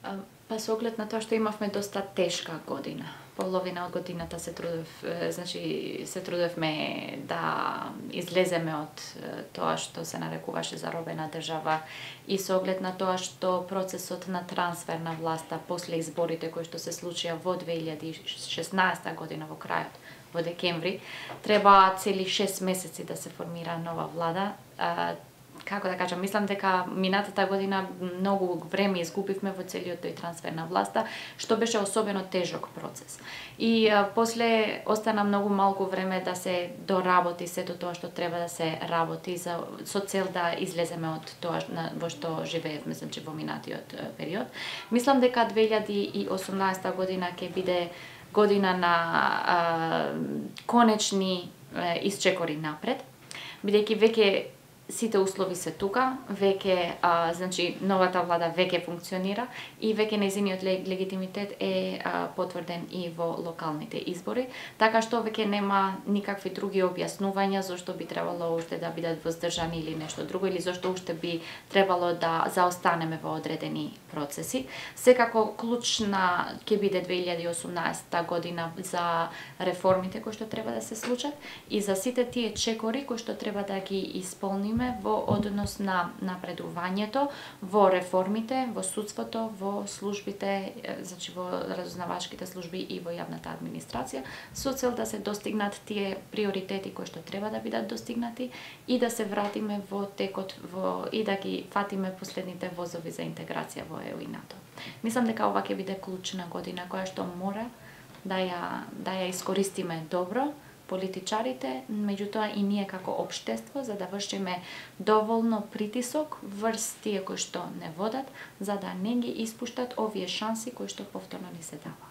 Па со оглед на тоа што имавме доста тешка година. Половина од годината се трудевме да излеземе од тоа што се нарекуваше заробена држава и со оглед на тоа што процесот на трансфер на власта после изборите кои што се случија во 2016 година во крајот, во декември, треба цели 6 месеци да се формира нова влада. Како да кажам, мислам дека минатата година многу време изгубивме во целиот тој трансфер на власта, што беше особено тежок процес. И после остана многу малку време да се доработи сето тоа што треба да се работи со цел да излеземе од тоа во што живеевме, значи во минатиот период. Мислам дека 2018 година ќе биде година на конечни исчекори напред, бидејќи веќе сите услови се тука, веќе значи новата влада веќе функционира и веќе нејзиниот легитимитет е потврден и во локалните избори, така што веќе нема никакви други објаснувања зошто би требало уште да бидат воздржани или нешто друго, или зошто уште би требало да заостанеме во одредени процеси. Секако клучна ќе биде 2018 година за реформите кои што треба да се случат и за сите тие чекори кои што треба да ги исполниме во однос на напредувањето, во реформите, во судството, во службите, значи во разузнавачките служби и во јавната администрација, со цел да се достигнат тие приоритети кои што треба да бидат достигнати и да се вратиме во текот и да ги фатиме последните возови за интеграција во ЕУ и НАТО. Мислам дека ова ќе биде клучна година која што мора да ја искористиме добро, политичарите, меѓутоа и ние како општество, за да вршиме доволно притисок врз тие кои што не водат, за да не ги испуштат овие шанси кои што повторно ни се даваат.